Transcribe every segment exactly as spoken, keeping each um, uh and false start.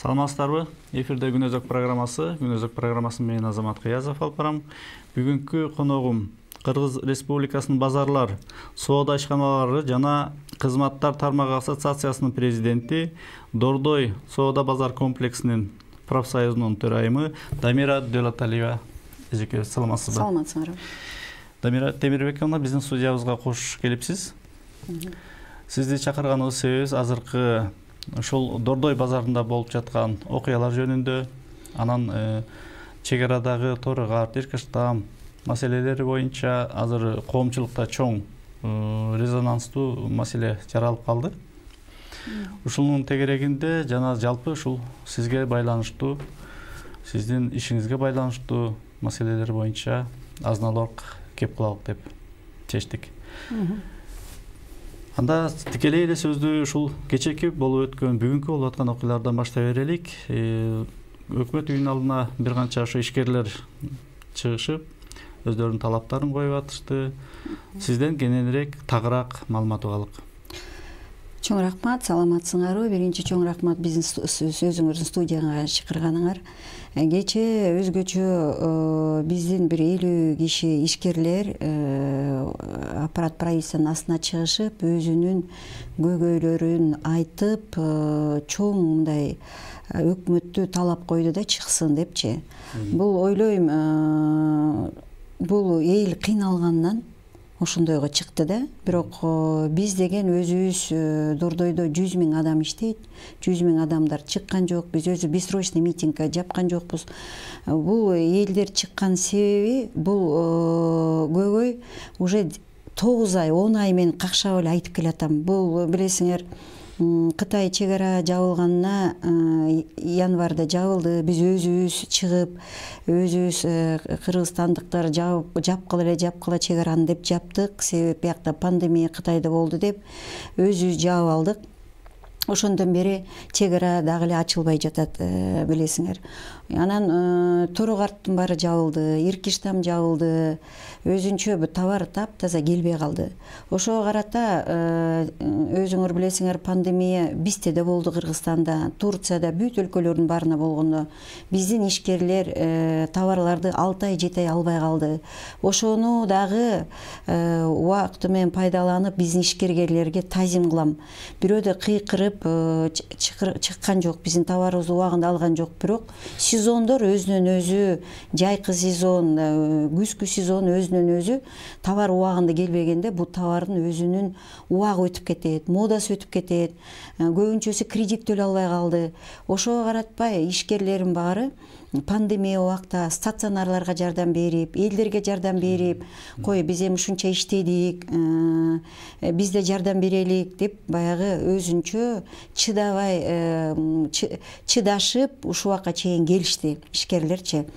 Саламатсыздарбы? Эфирде Күн өзөк программасы. Күн өзөк программасын мен Азамат Кыязов алып барам. Бүгүнкү коногум Кыргыз Республикасынын базарлар, соода ишканалары жана кызматтар тармагы ассоциациясынын президенти, Дордой соода базар комплексинин профсоюзунун төрайымы Дамира Дөлөталиева. Эжеке, саламатсызбы? Саламатсызбы. Дамира Темирбековна, биздин студиябызга кош келипсиз. Сизди чакырганыбыз себебибиз азыркы ушул Дордой базарында болуп жаткан окуялар жөнүндө, анан чек арадагы торыгар, тиркештам маселелери боюнча азыр коомчулукта чоң резонанстуу маселе жаралып калды. Ушунун тегерегинде жана жалпы ушул сизге байланыштуу, сиздин ишиңизге байланыштуу маселелер боюнча азын-аулак кеп кылалык деп чечтик. Анда тикелей эле сөздү ушул кечээки болуп өткөн, бүгүнкү болуп аткан окуялардан баштай берелик. Өкмөт үйүнүн алдына бир канча ошо ишкерлер чыгышып, өздөрүнүн талаптарын коюп атышты. Сизден кененирээк, тагыраак маалымат угалык. Чоң рахмат, саламатсыңарбы? Биринчи чоң рахмат биздин сөзүңөрдүн студияга чакырганыңар. Кечээ өзгөчө биздин бир элүү киши ишкерлер аппарат правительствонун астына чыгышып, өзүнүн көйгөйлөрүн айтып, чоң мындай өкмөттү талап койду да чыксын депчи. Бул ойлойм, бул эл кыйналгандан ошондойго чыкты да. Бирок биз деген өзүбүз Дордойдо жүз миң адам иштейт, жүз миң адамдар чыккан жок, биз өзү бессрочный митингге жапкан жокпуз. Бул элдер чыккан себеби, бул көйгөй уже тогуз ай, он ай мен какшап эле айтып келатам. Бул билесиңер, Кытай чек ара жабылганына январда жабылды. Биз өзүбүз чыгып, өзүбүз кыргызстандыктар жапкыла эле жапкыла чек араны деп жаптык. Себеби биякта пандемия Кытайда болду деп өзүбүз жаап алдык. Ошондон бери чек ара дагы эле ачылбай жатат, билесиңер. Анан торогардын баары жабылды, иркиштам жабылды. Өзүнчө бир товар таптаза келбей калды. Ошого карата өзүңөр билесиңер, пандемия бизде да болду, Кыргызстанда, Турцияда, бүт өлкөлөрдүн баарына болгондо биздин ишкерлер товарларды алты ай, жети ай албай калды. Ошону дагы убакыты менен пайдаланып биздин ишкерлерге тазим кылам. Бирөөдө кыйкырып чыккан жок, биздин товарыбызды убагында алган жок, бирок сезондор өзүнөн өзү, жайкы сезон, күзгү сезон өзүнөн өзү товар убагында келбегенде бул товардын өзүнүн убагы өтүп кетет, модасы өтүп кетет. Көбүнчөсү кредит төлөй албай калды. Ошого каратпай ишкерлердин баары пандемия убакта стационарларга жардам берип, элдерге жардам берип, кой биз эми ушунча иштедик, биз да жардам берелик деп баягы өзүнчө чыдабай, чыдашып ушул убакка чейин келишти ишкерлерчи.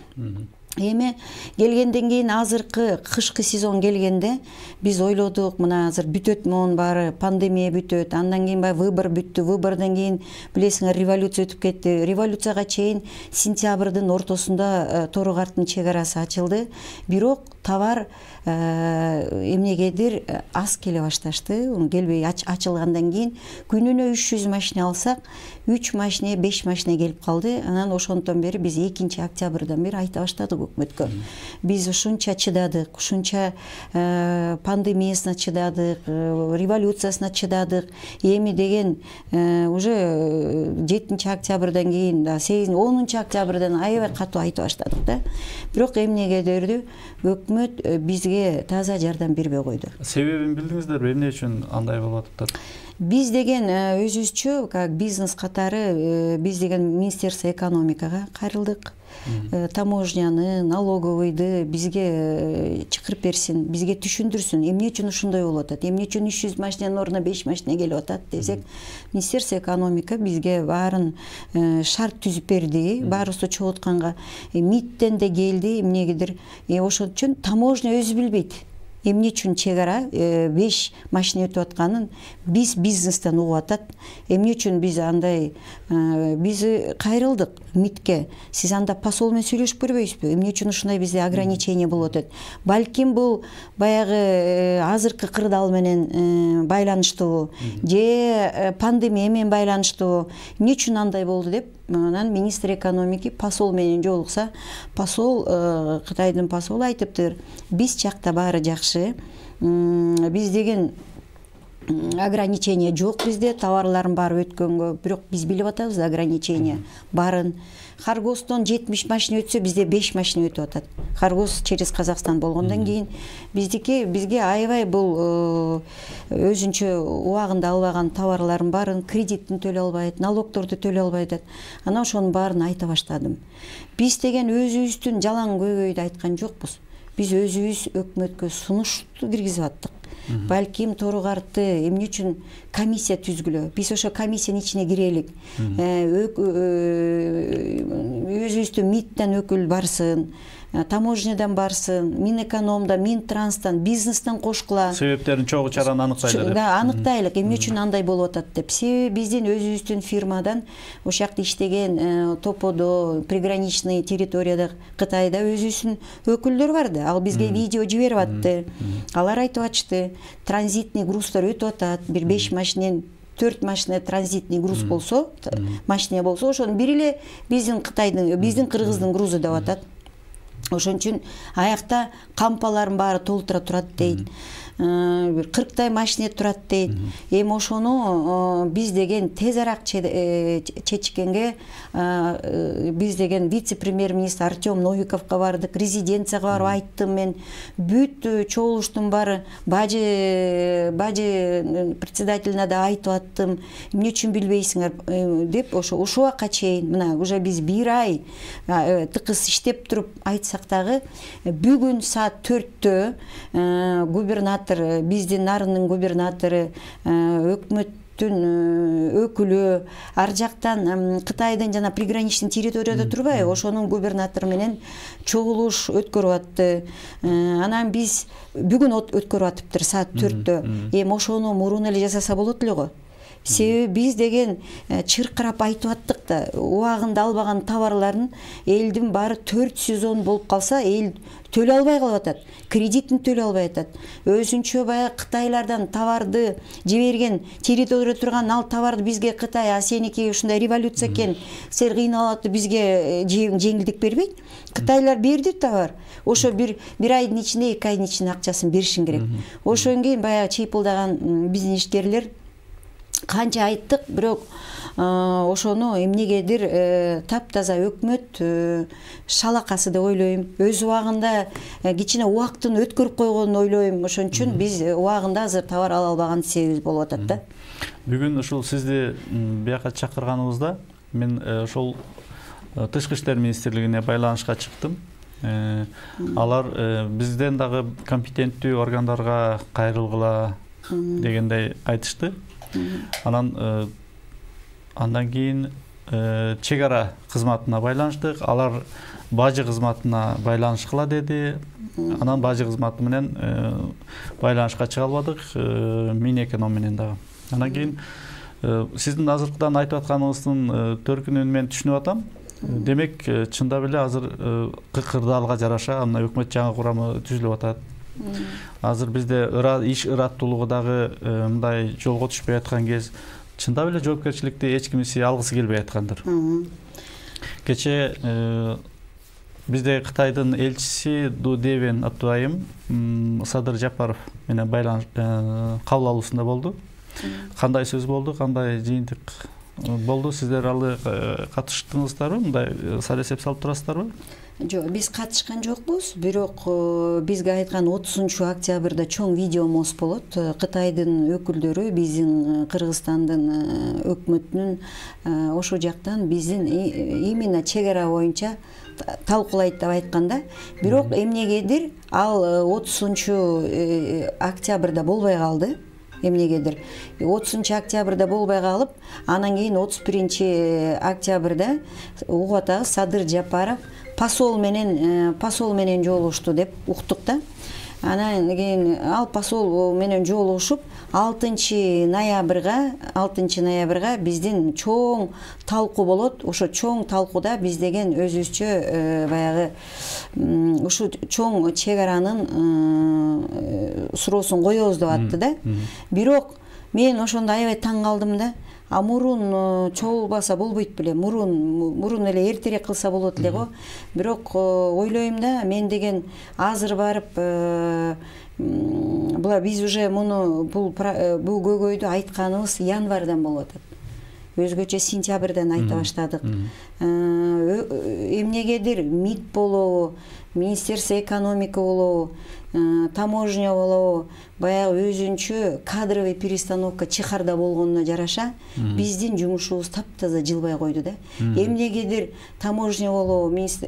Эми келгенден кийин азыркы кышкы сезон келгенде биз ойлодук, мына азыр бүтөт монун баары, пандемия бүтөт, андан кийин баягы выбор бүттү, выбордон кийин билесиңер революция өтүп кетти. Революцияга чейин сентябрдын ортосунда торогардын чек арасы ачылды, бирок товар эмнегедир аз келе башташты. Келбей ачылгандан кийин күнүнө үч жүз машина алсак, үч машина, беш машина келип калды. Анан ошондон бери биз экинчи октябрдан бери айта баштадык өкмөткө. Биз ушунча чыдадык, ушунча пандемиясына чыдадык, революциясына чыдадык. Эми деген уже жетинчи октябрдан кийин, сегизинчи, онунчу октябрдан аябай катуу айтып баштадык да. Бирок эмнегедир өкмөт бизге таза жардам бербей койду. Себебин билдиңиздерби? Эмне үчүн андай болуп атыптыр? Биз деген өзүбүзчө, как бизнес катары, биз деген Министерство экономикага кайрылдык. Таможняны, налоговыйды бизге чакырып берсин, бизге түшүндүрсүн, эмне үчүн ушундай болуп атат, эмне үчүн үч жүз машинанын ордуна беш машина келип атат десек, Министерство экономика бизге баарын шарт түзүп берди, баарыбызды чогултканга, МИДтен да келди, эмнегедир. Ошон үчүн таможня өзү билбейт. эмне үчүн чек ара беш машина өтүп атканын биз бизнестен угуп атат. Эмне үчүн биз андай биз кайрылдык МИДке. Сиз анда посол менен сүйлөшүп көрбөйсүзбү? Эмне үчүн ушундай бизде ограничение болуп атат? Балким бул баягы азыркы кырдаал менен байланыштуу же пандемия менен байланыштуу. Эмне үчүн андай болду деп анан министр экономики посол менен жолукса, посол Кытайдын посолу айтыптыр, биз жакта баары жакшы, биз деген ограничение жок бизде, товарлардын баары өткөнгө, бирок биз билип атабыз ограничение барын. Харгостон жетимиш машина өтсө, бизде беш машина өтүп атат. Харгост через Казакстан болгондон кийин биздики бизге аябай бул өзүнчө убагында албаган товарлардын баарын кредитин төлөй албайт, налогторду төлөй албайт. Анан ошонун баарын айта баштадым. Биз деген өзүбүздүн жалаң көйгөйдү айткан жокпуз. Биз өзүбүз өкмөткө сунушту киргизип аттык. Балким тору карты эмне үчүн комиссия түзгүлө? Биз ошо комиссиянын ичине кирелик. Өзүбүздүн МИДтен өкүл барсын, таможнядан барсын, Минэкономдон, Минтранстан, бизнестен кошкула. Себептерин чогуу чараны аныктайлы деп. Да, аныктайлык, эмне үчүн андай болуп атат деп. Себеби биздин өзүбүздүн фирмадан ошол жакта иштеген Топодо, приграничный территорияда Кытайда өзүбүздүн өкүлдөр бар да. Ал бизге видео жиберип атты. Алар айтып атышты, транзитный груздар өтүп атат. Бир беш машинен төрт машина транзитный груз болсо, машина болсо, ошонун бири эле биздин Кытайдын, биздин Кыргыздын грузу деп атат. Ошон үчүн аякта кампалардын баары толтура турат дейт. Бир кырктай машина турат дейт. Эми ошону биз деген тез арак чечкенге биз деген вице-премьер-министр Артем Новиковго бардык, резиденцияга барып айттым мен. Бүт чогулуштун баары бажы бажы председателине да айтып аттым. Эмне үчүн билбейсиңер деп ошо ушул убакка чейин мына уже биз бир ай тыкыз иштеп туруп айтсак дагы бүгүн саат төрттө губернатор биздин нарынын губернатору, өкмөттүн өкүлү ар жактан Кытайдын жана приграничный территорияда турбайбы, ошонун губернатору менен чогулуш өткөрүп атты. Анан биз бүгүн өткөрүп атыптыр саат төрттө. Эми ошону мурун эле жасаса болот эле го. Себеби биз деген чыркырап айтып аттык да, убагында албаган товарлардын элдин баары төрт сезон болуп калса, эл төлөй албай калып атат. Кредитин төлөй албай атат. Өзүнчө баягы Кытайлардан товарды жиберген территорияда турган ал товарды бизге Кытай, а сеники ушундай революция экен, силер кыйналып атып бизге жеңилдик бербейт. Кытайлар берди товар. Ошо бир бир айдын ичинде, эки айдын ичинде акчасын беришин керек. Ошон кийин баягы чыйпылдаган биздин ишкерлер канча айттык, бирок ошону эмнегедир таптаза өкмөт шалакасы деп ойлойм. Өз убагында кичине убактын өткөрүп койгонун ойлойм. Ошон үчүн биз убагында азыр товар ала албаган себебибиз болуп атат да. Бүгүн ушул сизди бияка чакырганыбызда мен ошол Тышкы иштер министрлигине байланышка чыктым. Алар бизден дагы компетенттүү органдарга кайрылгыла дегендей айтышты. Анан андан кийин чек ара кызматына байланыштык. Алар бажы кызматына байланышкыла деди. Анан бажы кызматы менен байланышка чыга албадык, Минэконом менен дагы. Андан кийин сиздин азыркыдан айтып атканыңыздын төркүнүн мен түшүнүп атам. Демек, чындап эле азыр кырдаалга жараша мына өкмөт жаңы курамы түзүлүп атат. Азыр бизде иш ыраттуулугу дагы мындай жолго түшпөй аткан кез, чындап эле жоопкерчиликти эч кимиси алгысы келбей аткандыр. Кече бизде Кытайдын элчиси Ду Девен Атуайым Садыр Жапаров менен байланыш кабыл алуусунда болду. Кандай сөз болду, кандай жыйынтык болду? Сиздер алы катыштыңыздарбы? Мындай сар эсеп салып турасыздарбы? Жок, биз катышкан жокпуз, бирок бизге айткан отузунчу октябрда чоң видеомоз болот. Кытайдын өкүлдөрү биздин Кыргызстандын өкмөтүнүн ошол жактан биздин именно чек ара боюнча талкуулайт деп айтканда, бирок эмнегедир ал отузунчу октябрда болбой калды. Эмнегедир отузунчу октябрда болбой калып, анан кийин отуз биринчи октябрда угуп атабыз Садыр Жапаров посол менен посол менен жолугушту деп уктук да. Анан кийин ал посол менен жолугушуп алтынчы ноябрга алтынчы ноябрга биздин чоң талкуу болот. Ошо чоң талкууда биз деген өзүбүзчө баягы ушу чоң чек аранын суроосун коебуз деп атты да. Бирок мен ошондо аябай таң калдым да. А мурун чогулбаса болбойт беле, мурун мурун эле эртерээк кылса болот эле го. Бирок ойлойм да, мен деген азыр барып була биз уже муну бул бул көйгөйдү айтканыбыз январдан болуп атат. Өзгөчө сентябрдан айта баштадык. Эмнегедир МИД болобу, Министерство экономика болобу, таможня болобу, баягы өзүнчө кадровый перестановка чыхарда болгонуна жараша биздин жумушубуз таптаза жылбай койду да. Эмнегедир таможня болобу, МИД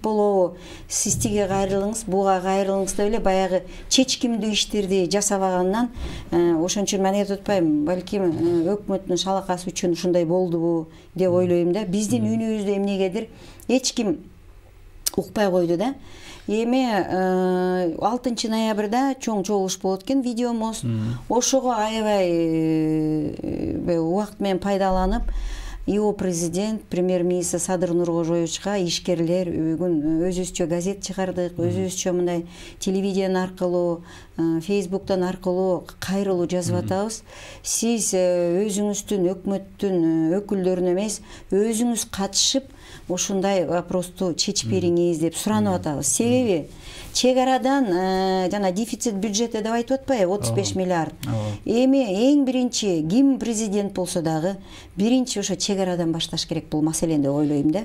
болобу, сиз тиге кайрылыңыз, буга кайрылыңыз деп эле баягы чечкимдүү иштерди жасабагандан ошон үчүн мен айтып атпайм, балким өкмөттүн шалакасы үчүн ушундай болдубу деп ойлойм да. Биздин үнүбүздү эмнегедир эч ким укпай койду да. Эми алтынчы ноябрда чоң чогулуш болот экен, видеомоз. Ошого аябай убакыт менен пайдаланып, ИО президент, премьер-министр Садыр Нуркожоевичка ишкерлер бүгүн өзүбүзчө газет чыгардык, өзүбүзчө мындай телевидение аркылуу, Facebook'тан аркылуу кайрылуу жазып атабыз. Сиз өзүңүздүн өкмөттүн өкүлдөрүнө эмес, өзүңүз катышып ушундай вопросту чечип бериңиз деп суранып атабыз. Себеби чек арадан жана дефицит бюджетте деп айтып атпайбы, отуз беш миллиард. Эми эң биринчи ким президент болсо дагы биринчи ошо чек арадан башташ керек бул маселени деп ойлойм да.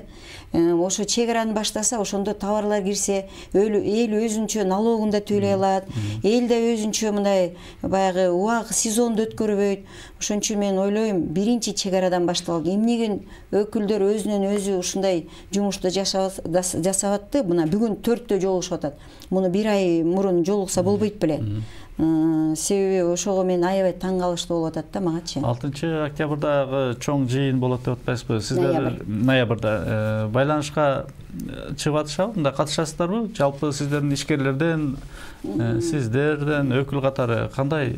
Ошо чек араны баштаса, ошондо товарлар кирсе, эл өзүнчө налогун да төлөй алат. Эл да өзүнчө мындай баягы убак сезонду өткөрбөйт. Ошон үчүн мен ойлойм, биринчи чек арадан башталат. Эмнеге өкүлдөр өзүнөн өзү ушундай жумушту жасап атты? Мына бүгүн төрттө жолугушуп атат. Муну бир ай мурун жолукса болбойт беле. Себеби ошого мен аябай таң калыштуу болуп атат да магачы. алтынчы октябрдагы чоң жыйын болот деп атпайсызбы? Сиздер ноябрда байланышка чыгып атышабы? Мында катышасыздарбы? Жалпы сиздердин ишкерлерден, сиздерден өкүл катары кандай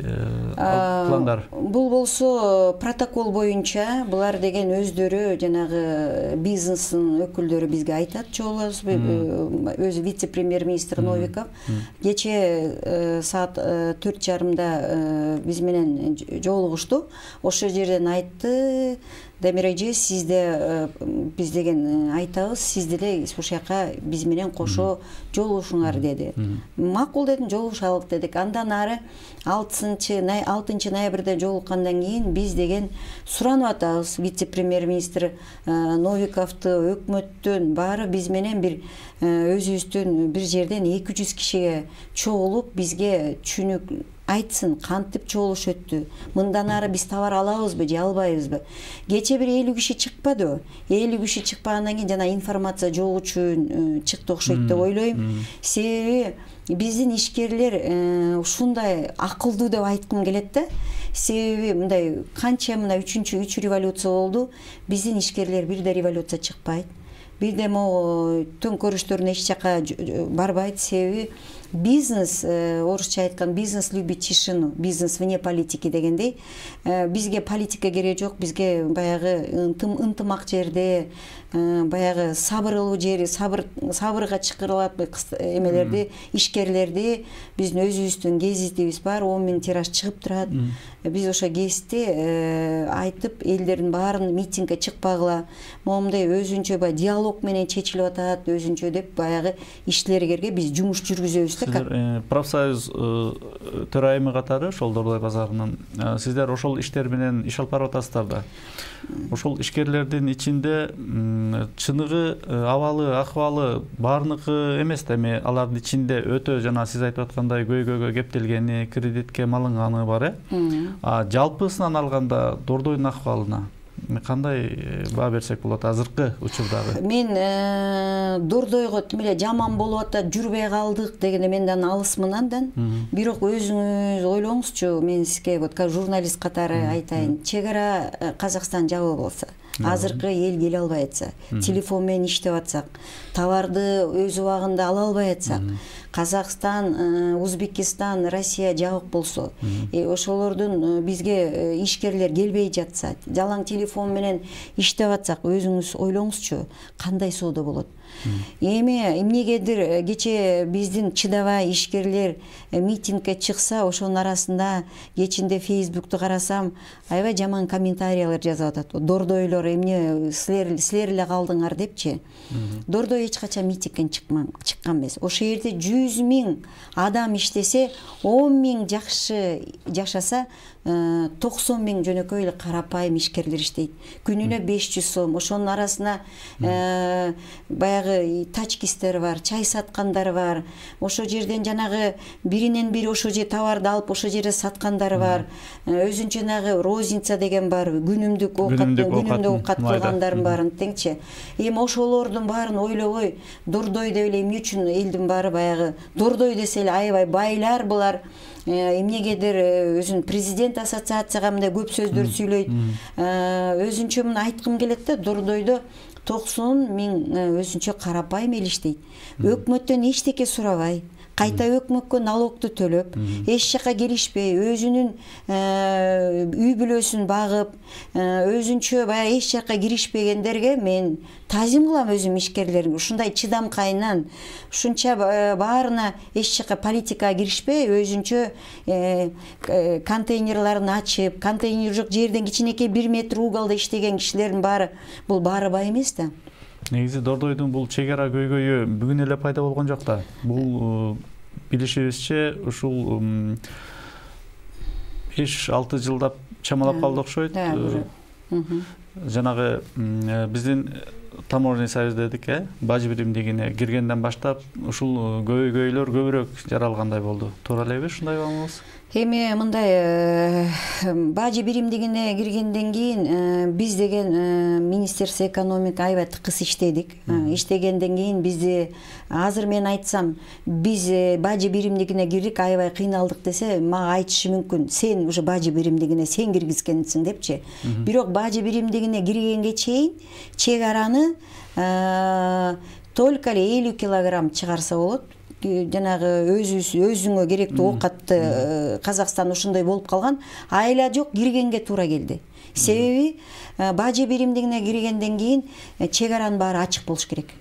пландар? Бул болсо протокол боюнча булар деген өздөрү жанагы бизнестин өкүлдөрү бизге айтат, чогулабыз. Өзү вице-премьер-министр Новиков кече саат төрт жарымда биз менен жолугушту. Ошол жерден айтты, Дамир эже, сизде биз деген айтабыз, сиз деле ушул жака биз менен кошо жолугушуңар деди. Макул дедим, жолугушалык дедик. Андан ары алтынчы ноябрда жолуккандан кийин биз деген суранып атабыз, вице-премьер-министр Новиковду, өкмөттүн баары биз менен бир өзүбүздүн бир жерден эки жүз кишиге чогулуп бизге түшүнүк айтсын, кантип чогулуш өттү, мындан ары биз товар алабызбы же албайбызбы. Кече бир элүү киши чыкпадыбы? элүү киши чыкпагандан кийин жана информация жок үчүн чыкты окшойт деп ойлойм. Себеби биздин ишкерлер ушундай акылдуу деп айткым келет да. Себеби мындай канча мына үчүнчү үч революция болду, биздин ишкерлер бир да революция чыкпайт. Бир да могу төңкөрүштөрүнө эч жака барбайт. Себеби бизнес, орусча айткан, бизнес любит тишину, бизнес вне политики дегендей, бизге политика керек жок, бизге баягы ынтымак жерде, баягы сабырлуу жери, сабыр сабырга чакырылат эмелерди, ишкерлерди, биздин өзүбүздүн гезитибиз бар, он миң тираж чыгып турат. Биз ошо гезитти айтып, элдердин баарын митингге чыкпагыла, момундай өзүнчө баягы диалог менен чечилип атат, өзүнчө деп баягы иштелерге биз жумуш жүргүзөбүз. Сиздер профсоюз төрайымы катары ошол Дордой базарынын сиздер ошол иштер менен иш алып барып атасыздар да. Ошол ишкерлердин ичинде чыныгы абалы, акыбалы баарыныкы эмес да, эми алардын ичинде өтө жана сиз айтып аткандай көйгөйгө кептелгени, кредитке малынганы бар э. А жалпысынан алганда Дордойдун акыбалына кандай баа берсек болот азыркы учурдагы? Мен Дордойго тим эле жаман болуп атат, жүрбөй калдык дегенде менен алысмын андан. Бирок өзүңүз ойлоңузчу, мен сизге вот журналист катары айтайын. Чек ара Казакстан жабык болсо, азыркы эл келе албай атса, телефон менен иштеп атсак, товарды өз убагында ала албай атсак, Казакстан, Узбекистан, Россия жабык болсо, ошолордун бизге ишкерлер келбей жатса, жалаң телефон менен иштеп атсак, өзүңүз ойлоңузчу, кандай соода болот? Эми эмнегедир кече биздин чыдабай ишкерлер митингге чыкса, ошонун арасында кечинде Фейсбукту карасам, аябай жаман комментариялар жазып атат. Дордойлор эмне силер силер эле калдыңар депчи. Дордой эч качан митингге чыккан эмес. Ошол жерде жүз миң адам иштесе, он миң жакшы жашаса, токсон миң жөнөкөй эле карапайым ишкерлер иштейт. Күнүнө беш жүз сом. Ошонун арасына баягы тачкистер бар, чай саткандар бар. Ошол жерден жанагы биринен бири ошол же товарды алып ошол жерде саткандар бар. Өзүнчө жанагы розница деген бар, күнүмдүк оокат, күнүмдүк оокат кылгандардын баарын теңчи. Эми ошолордун баарын ойлобой, Дордой деп эле эмне үчүн элдин баары баягы Дордой десе эле аябай байлар булар. Эмнегедир өзүн президент ассоциацияга мындай көп сөздөр сүйлөйт. Өзүнчө муну айткым келет да, Дордойдо токсон миң өзүнчө карапайым эл иштейт. Өкмөттөн эчтеке сурабай, кайта өкмөткө налогду төлөп, эч жака келишпей, өзүнүн үй бүлөсүн багып, өзүнчө баягы эч жака киришпегендерге мен тазим кылам өзүм ишкерлерге. Ушундай чыдамкайынан, ушунча баарына эч жака политикага киришпей, өзүнчө контейнерларын ачып, контейнер жок жерден кичинекей бир метр уголда иштеген кишилердин баары бул баары бай эмес да. Негизи Дордойдун бул чек ара көйгөйү бүгүн эле пайда болгон жок да. Бул билишибизче ушул беш алты жылдап чамалап калды окшойт. Жанагы биздин таможенный союз дедик, э, бажы биримдигине киргенден баштап ушул көйгөйлөр көбүрөөк жаралгандай болду. Туура элеби ушундай болмосу? Эми мындай бажы биримдигине киргенден кийин биз деген Министерство экономика аябай тыкыз иштедик. Иштегенден кийин бизди азыр мен айтсам, биз бажы биримдигине кирдик, аябай кыйналдык десе, мага айтышы мүмкүн, сен уже бажы биримдигине сен киргизгенсиң депчи. Бирок бажы биримдигине киргенге чейин чек араны только эле элүү килограмм чыгарса болот. Жанагы өзүбүз өзүңө керектүү оокатты Казакстан ушундай болуп калган, айла жок, киргенге туура келди. Себеби бажы биримдигине киргенден кийин чек аранын баары ачык болуш керек.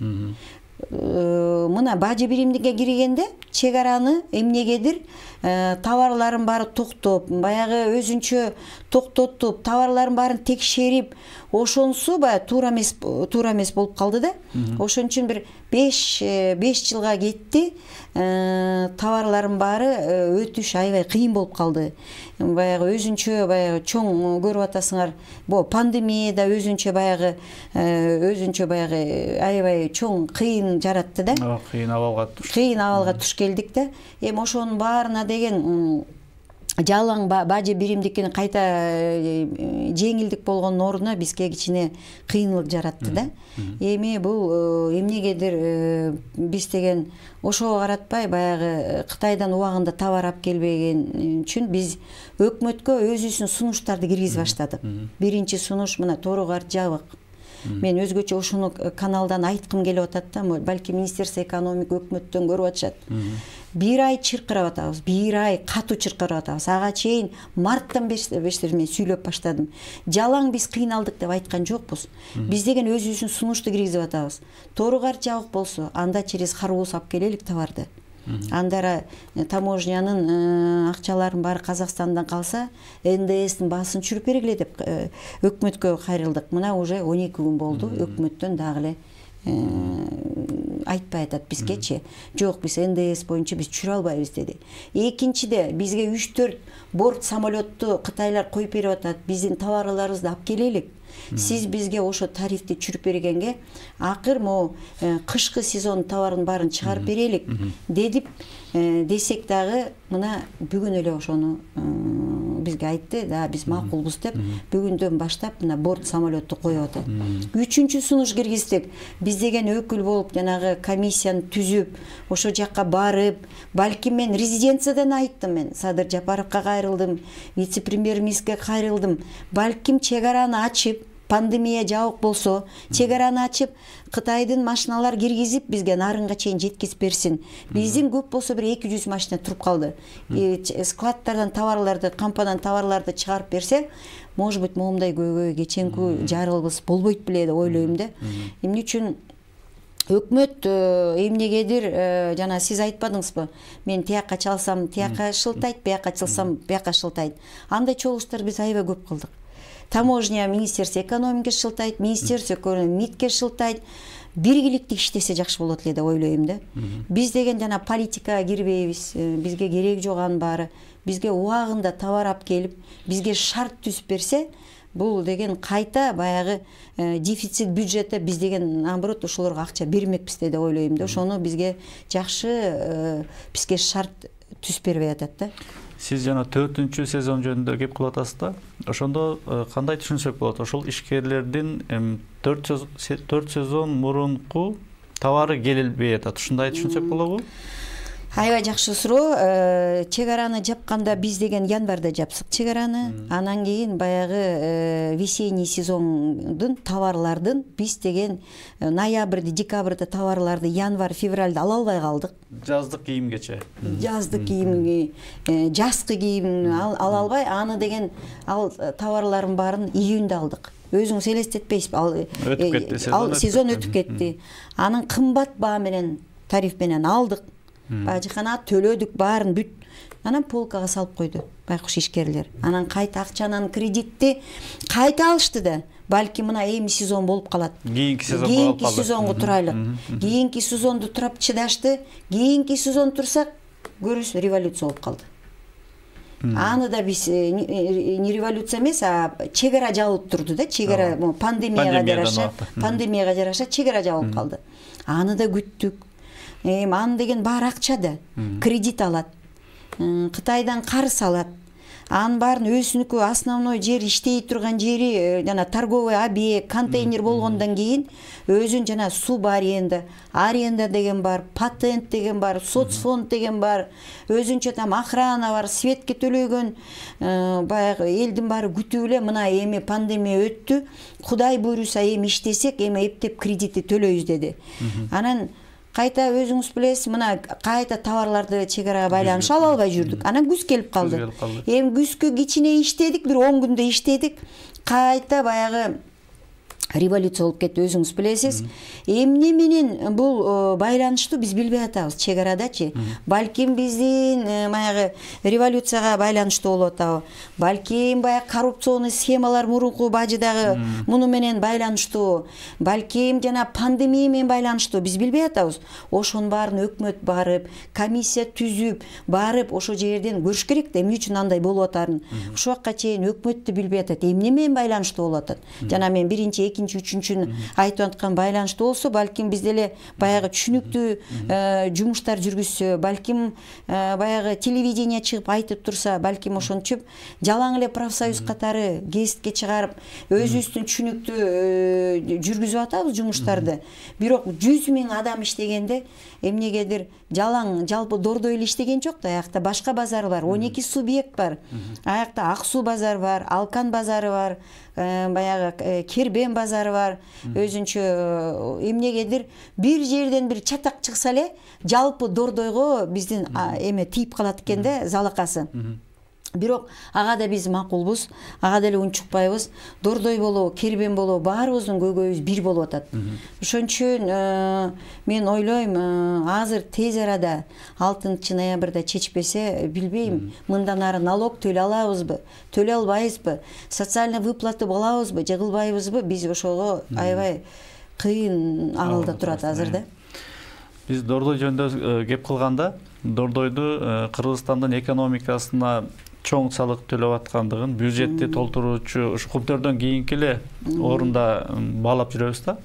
Мына бажы биримдикке киргенде чек араны эмнегедир товарларын баары токтоп, баягы өзүнчө токтотуп, товарларын баарын текшерип, ошонусу баягы туура эмес туура эмес болуп калды да. Ошон үчүн бир беш жылга кетти. Товарлардын баары өтүш аябай кыйын болуп калды. Баягы өзүнчө баягы чоң көрүп атасыңар, бу пандемияда өзүнчө баягы өзүнчө баягы аябай чоң кыйын жаратты да. Кыйын абалга туш. Кыйын абалга туш келдик да. Эми ошонун баарына деген жалаң бажы биримдикини кайта жеңилдик болгондун ордуна бизге кичине кыйынлык жаратты да. Эми бул эмнегедир биз деген ошого каратпай баягы Кытайдан убагында товар алып келбеген үчүн биз өкмөткө өзүбүздүн сунуштарды киргизип баштадык. Биринчи сунуш мына Тору-Кар жабык. Мен өзгөчө ошону каналдан айткым келип атат да, балки Министерство экономика өкмөттөн көрүп атышат. Бир ай чыркырап атабыз, бир ай катуу чыркырап атабыз. Ага чейин марттан бештери мен сүйлөп баштадым. Жалаң биз кыйналдык деп айткан жокпуз. Биз деген өзүбүздүн сунушту киргизип атабыз. Тору-Кар жабык болсо, анда через Харбоз алып келелик товарды. Андара таможнянын акчаларын баары Казакстандан калса, эн дэ эстин баасын түшүрүп бергиле деп өкмөткө кайрылдык. Мына уже он эки күн болду, өкмөттөн дагы эле айтпай атат бизгечи. Жок, биз эн дэ эс боюнча биз түшүрө албайбыз деди. Экинчиде бизге үч төрт борт самолетту Кытайлар коюп берип атат. Биздин товарларыбызды алып келелик. Сиз бизге ошо тарифти түшүрүп бергенге акыр могу кышкы сезон товарын баарын чыгарып берелик дедип десек дагы мына бүгүн эле ошону бизге айтты, да биз макулбуз деп бүгүндөн баштап мына борт самолетту коюп атат. Үчүнчү сунуш киргиздик. Биз деген өкүл болуп жанагы комиссияны түзүп, ошо жакка барып, балким мен резиденциядан айттым, мен Садыр Жапаровго кайрылдым, вице-премьер-министрге кайрылдым. Балким чек араны ачып, пандемия жабык болсо чек араны ачып Кытайдын машиналар киргизип бизге нарынга чейин жеткизип берсин. Биздин көп болсо бир эки жүз машина туруп калды. Складтардан товарларды, кампадан товарларды чыгарып берсе, может быть, моундай көйгөй кеченки жарылыбыз болбойт беле деп ойлойм да. Эмне үчүн өкмөт эмнегедир жана сиз айтпадыңызбы? Мен тияка чалсам, тияка шылтайт, бияка чалсам, бияка шылтайт. Андай чогулуштар биз аябай көп кылдык. Таможня министерство экономики шылтайт, министерство МИДке шылтайт. Биргиликтүү иштесе жакшы болот эле деп ойлойм да. Биз деген жана политикага кирбейбиз. Бизге керек жок анын баары. Бизге убагында товар алып келип, бизге шарт түзүп берсе, бул деген кайта баягы дефицит бюджетте биз деген наоборот ошолорго акча бермекпиз деп ойлойм да. Ошону бизге жакшы бизге шарт түзүп бербей атат да. Сиз жана төртүнчү сезон жөнүндө кеп кылып атасыз да. Ошондо кандай түшүнсөк болот? Ошол ишкерлердин төрт сезон мурунку товары келбей атат. Ушундай түшүнсөк болобу? Аябай жакшы суроо. Чек араны жапканда биз деген январда жапсык чек араны. Анан кийин баягы весенний сезондун товарлардын биз деген ноябрда, декабрда товарларды январь, февралда ала албай калдык. Жаздык кийимгече. Жаздык кийим, жазкы кийим ала албай, аны деген ал товарлардын баарын июнда алдык. Өзүңүз элестетпейсизби? Ал өтүп кетти, ал сезон өтүп кетти. Анын кымбат баа менен, тариф менен алдык. Бажыкана төлөдүк, баарын бүт. Анан полкага салып койду байкуш ишкерлер. Анан кайта акчанын кредитти кайта алышты да. Балки мына эми сезон болуп калат. Кийинки сезон болуп калды. Кийинки сезонго турайлык. Кийинки сезонду турап чыдашты. Кийинки сезон турсак, көрүсүз революция болуп калды. Аны да биз не революция эмес, а чек ара жабылып турду да. Чек ара пандемияга жараша, пандемияга жараша чек ара жабылып калды. Аны да күттүк. Эми аны деген баары акча да. Кредит алат. Кытайдан карыз алат. Анын баарын өзүнүкү основной жер иштей турган жери жана торговый объект, контейнер болгондон кийин өзүн жана суб аренда, аренда деген бар, патент деген бар, соцфонд деген бар, өзүнчө там охрана бар, светке төлөгөн баягы элдин баары күтүп эле мына эми пандемия өттү, Кудай буйруса эми иштесек, эми эптеп кредитти төлөйбүз деди. Анан кайта өзүңүз билесиз, мына кайта товарларды чек арага байланыш ала албай жүрдүк. Анан күз келип калды. Эми күзгө кичине иштедик, бир он күндө иштедик. Кайта баягы революция болуп кетти, өзүңүз билесиз. Эмне менен бул байланыштуу биз билбей атабыз чек арадачы. Балким биздин баягы революцияга байланыштуу болуп атабы. Балким баягы коррупционный схемалар мурунку бажыдагы муну менен байланыштуу. Балким жана пандемия менен байланыштуу, биз билбей атабыз. Ошонун баарын өкмөт барып, комиссия түзүп, барып ошо жерден көрүш керек да, эмне үчүн андай болуп атарын. Ушул вакытка чейин өкмөт да билбей атат, эмне менен байланыштуу болуп атат. Жана мен биринчи, экинчи, үчүнчүнү айтып аткан байланыштуу болсо, балким биз деле баягы түшүнүктүү жумуштар жүргүзсө, балким баягы телевидение чыгып айтып турса, балким ошончуп жалаң эле профсоюз катары гезитке чыгарып, өзүбүздүн түшүнүктүү жүргүзүп атабыз жумуштарды. Бирок жүз миң адам иштегенде эмнегедир жалаң жалпы Дордой эле иштеген жок да, аякта башка базар бар, он эки субъект бар. Аякта Ак суу базары бар, Алкан базары бар, баягы Кербен базары бар. Өзүнчө эмнегедир бир жерден бир чатак чыкса эле жалпы Дордойго биздин эме тийип калат экен да, залакасы. Бирок ага да биз макулбуз, ага деле унчукпайбыз. Дордой болобу, Кербен болобу, баарыбыздын көйгөйүбүз бир болуп атат. Ошон үчүн мен ойлойм, азыр тез арада алтынчы ноябрда чечпесе, билбейм, мындан ары налог төлөй алабызбы, төлөй албайбызбы, социальный выплаты болобузбу, же кылбайбызбы, биз ошого аябай кыйын абалда турат азыр да. Биз Дордой жөнүндө кеп кылганда, Дордойду Кыргызстандын экономикасына чоң салык төлөп аткандыгын, бюджетти толтуруучу ушу Кумтөрдөн кийинки эле орунда баалап жүрөбүз да.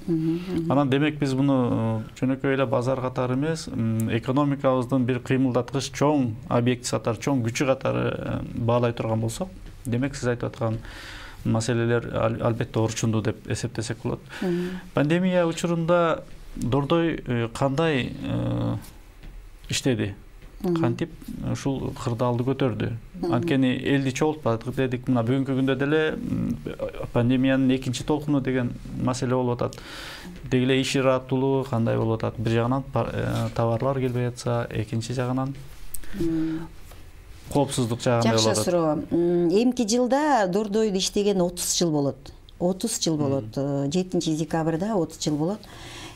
Анан демек биз муну жөнөкөй эле базар катары эмес, экономикабыздын бир кыймылдаткыч чоң объекти катары, чоң күчү катары баалай турган болсок, демек сиз айтып аткан маселелер албетте орчундуу деп эсептесек болот. Пандемия учурунда Дордой кандай иштеди? кантип ушул кырдаалды көтөрдү. Анткени элди чогултпадык дедик. Мына бүгүнкү күндө деле пандемиянын экинчи толкуну деген маселе болуп атат. Деги эле иш ыраттуулугу кандай болуп атат? Бир жагынан товарлар келбей атса, экинчи жагынан коопсуздук жагында болуп атат. Жакшы суроо. Эмки жылда Дордойдо иштеген отуз жыл болот. отуз жыл болот. жетинчи декабрда отуз жыл болот.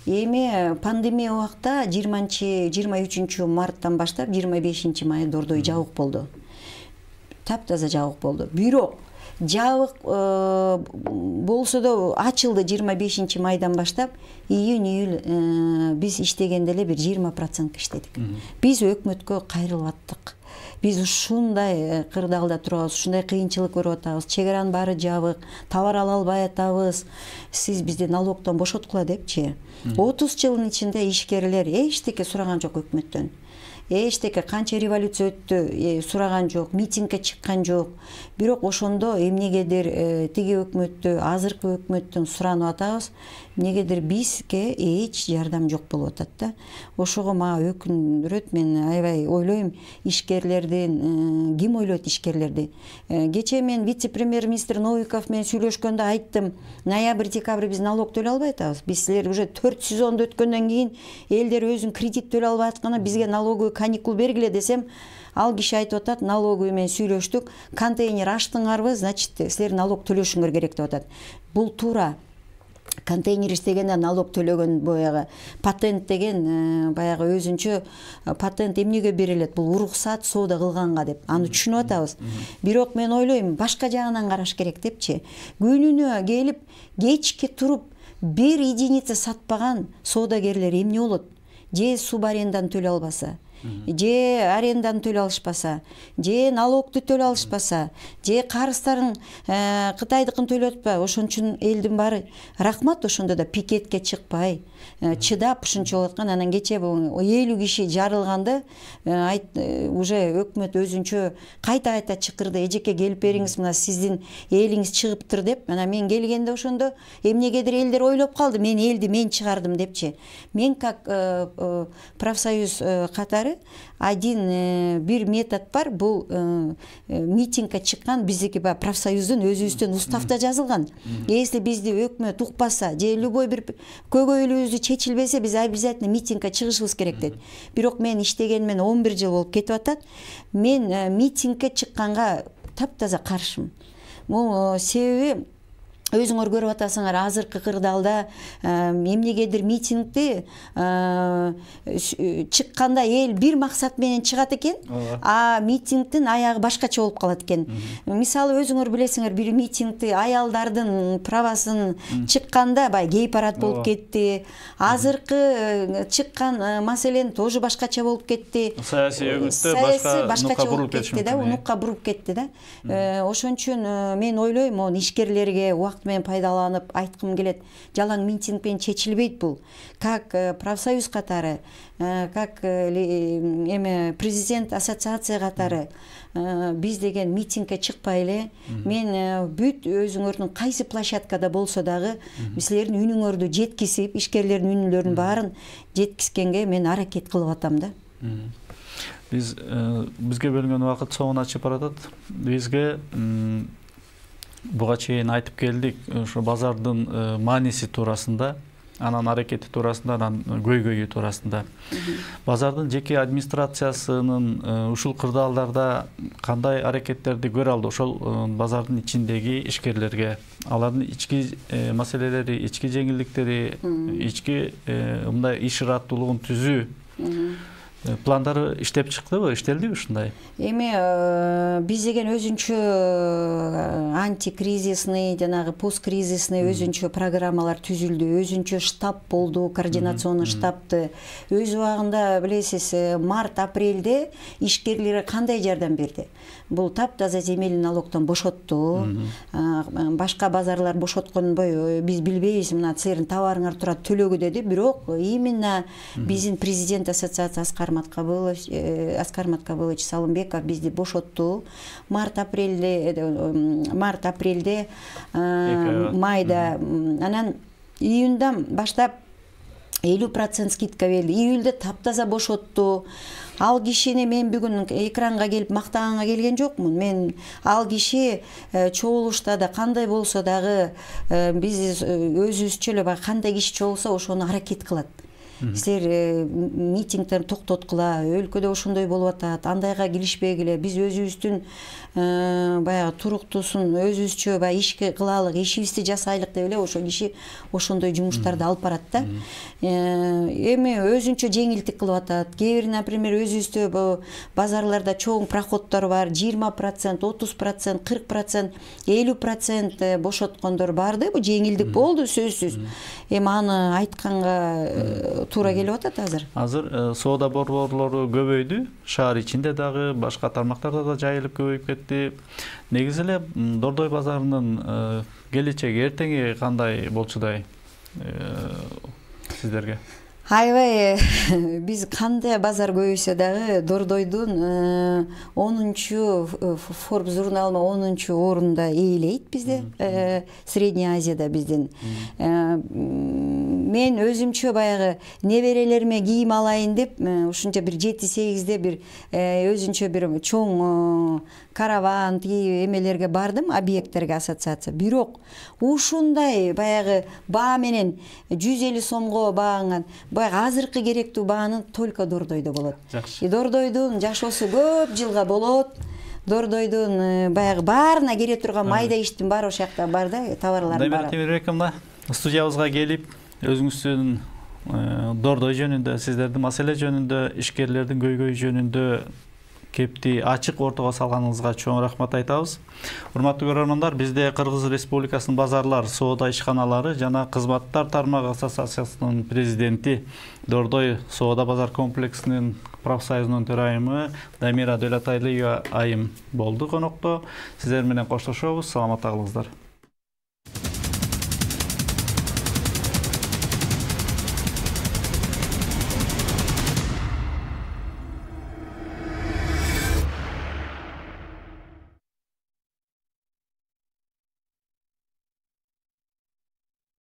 Эми пандемия убакта жыйырманчы жыйырма үчүнчү марттан баштап жыйырма бешинчи май Дордой жабык болду. Таптаза жабык болду. Бирок жабык болсо да ачылды жыйырма бешинчи майдан баштап. Июнь июль биз иштегенде эле бир жыйырма процент иштедик. Биз өкмөткө кайрылып аттык. Биз ушундай кырдаалда турабыз, ушундай кыйынчылык көрүп атабыз. Чек аранын баары жабык, товар ала албай атабыз. Сиз бизди налогдон бошоткула депчи. отуз жылдын ичинде ишкерлер эчтеке сураган жок өкмөттөн. Эчтеке канча революция өттү, сураган жок, митингге чыккан жок. Бирок ошондо эмнегедир тиги өкмөттү, азыркы өкмөттөн суранып атабыз. Эмнегедир бизге эч жардам жок болуп атат да. Ошого мага өкүндүрөт. Мен аябай ойлойм, ишкерлердин, ким ойлойт ишкерлерди. Кечээ мен вице-премьер-министр Новиков менен сүйлөшкөндө айттым, ноябрь декабрь биз налог төлөй албай атабыз. Биз силер уже төрт сезонду өткөндөн кийин элдер өзүн кредит төлөй албай атканда бизге налоговый каникул бергиле десем, ал киши айтып атат, налоговый менен сүйлөштүк, контейнер ачтыңарбы, значит, силер налог төлөшүңөр керек деп атат. Бул туура. Контейнер иштегенде налог төлөгөн баягы патент деген баягы өзүнчө патент эмнеге берилет? Бул уруксат соода кылганга деп. Аны түшүнүп атабыз. Бирок мен ойлойм, башка жагынан караш керек депчи. Күнүнө келип, кечке туруп бир единица сатпаган соодагерлер эмне болот? Же суб арендан төлөй албаса, же арендан төлөй алышпаса, же налогду төлөй алышпаса, же карыздарын Кытайдыкын төлөп атпайбы, ошон үчүн элдин баары рахмат ошондо да пикетке чыкпай, чыдап ушунча болуп аткан. Анан кечээ элүү киши жарылганды уже өкмөт өзүнчө кайта-кайта чакырды. Эжеке келип бериңиз, мына сиздин элиңиз чыгыптыр деп. Анан мен келгенде ошондо эмнегедир элдер ойлоп калды, мен элди мен чыгардым депчи. Мен как профсоюз катары один бир метод бар. Бул митингге чыккан биздики баягы профсоюздун өзүбүздөн уставда жазылган. Если бизди өкмөт укпаса, же любой бир көйгөйлүбүздү чечилбесе, биз обязательно митингге чыгышыбыз керек дейт. Бирок мен иштегенимен он бир жыл болуп кетип атат. Мен митингге чыкканга таптаза каршымын. Бул себеби өзүңөр көрүп атасыңар, азыркы кырдаалда эмнегедир митингди чыкканда эл бир максат менен чыгат экен, а митингдин аягы башкача болуп калат экен. Мисалы өзүңөр билесиңер, бир митингди аялдардын правасын чыкканда бай гей-парад болуп кетти. Азыркы чыккан маселен тоже башкача болуп кетти. Саясий өгүттө башкача болуп кетти да, унукка буруп кетти да. Ошон үчүн мен ойлойм, могу ишкерлерге менен пайдаланып айткым келет. Жалаң митинг менен чечилбейт бул. Как профсоюз катары, как эме президент ассоциация катары биз деген митингге чыкпай эле, мен бүт өзүңөрдүн кайсы площадкада болсо дагы силердин үнүңөрдү жеткизип, ишкерлердин үнүлөрүнүн баарын жеткизгенге мен аракет кылып атам да. Биз бизге бөлүнгөн убакыт соңуна чыгып баратат. Бизге буга чейин айтып келдик, ошо базардын мааниси туурасында, анан аракети туурасында, анан көйгөйү туурасында. Базардын жеке администрациясынын ушул кырдаалдарда кандай аракеттерди көрө алды? Ошол базардын ичиндеги ишкерлерге, алардын ички маселелери, ички жеңилдиктери, ички мындай иш ыраттуулугун түзүү пландары иштеп чыктыбы, иштелдиби ушундай? Эми биз деген өзүнчө антикризисный, жанагы посткризисный өзүнчө программалар түзүлдү, өзүнчө штаб болду, координационный штабты. Өз убагында билесиз, март-апрелде ишкерлерге кандай жардам берди? Бул таптаза земельный налогдон бошотту. Башка базарлар бошотконбой, биз билбейбиз, мына силердин товарыңар турат, төлөгү деди. Бирок именно биздин президент ассоциация Аскар Маткабылович, Аскар Маткабылович Салымбеков бизди бошотту. Март-апрелде, март-апрелде, майда, анан июндан баштап элүү процент скидка берди. Июльдө таптаза бошотту. Ал кишини мен бүгүн экранга келип мактаганга келген жокмун. Мен ал киши чогулушта да кандай болсо дагы биз өзүбүзчө эле баягы кандай киши чогулса ошону аракет кылат. Силер митингдерди токтоткула, өлкөдө ошондой болуп атат, андайга киришпегиле, биз өзүбүздүн баягы туруктуусун өзүбүзчө баягы иш кылалык, ишибизди жасайлык деп эле ошол киши ошондой жумуштарды алып барат да. Эми өзүнчө жеңилдик кылып атат. Кээ бир, например, өзүбүздө базарларда чоң проходдор бар, жыйырма процент, отуз процент, кырк процент, элүү процент бошоткондор барды. Бул жеңилдик болду сөзсүз. Эми аны айтканга туура келип атат азыр. Азыр соода борборлору көбөйдү. Шаар ичинде дагы, башка тармактарда да жайылып көбөйүп кетти. Негизи эле Дордой базарынын келечеги, эртеңи кандай болчудай сиздерге? Аябай биз кандай базар көбөйсө дагы Дордойдун онунчу Forbes журналына онунчу орунда ээлейт бизде, Средняя Азияда биздин. Мен өзүмчө баягы неберелериме кийим алайын деп ушунча бир жети сегизде бир өзүнчө бир чоң караван тиги эмелерге бардым, объекттерге, ассоциация. Бирок ушундай баягы баа менен жүз элүү сомго баанган баягы азыркы керектүү бааны только Дордойдо болот. Жакшы. Дордойдун жашоосу көп жылга болот. Дордойдун баягы баарына кере турган майда иштин баары ошол жакта бар да, товарлардын баары. Демек, мына студиябызга келип, өзүңүздүн Дордой жөнүндө, сиздердин маселе жөнүндө, ишкерлердин көйгөйү жөнүндө кепти ачык ортого салганыңызга чоң рахмат айтабыз. Урматтуу көрөрмандар, бизде Кыргыз Республикасынын базарлар, соода ишканалары жана кызматтар тармагы ассоциациясынын президенти, Дордой соода базар комплексинин профсоюзунун төрайымы Дамира Дөлөтайлиева айым болду конокто. Сиздер менен коштошобуз. Саламатта калыңыздар.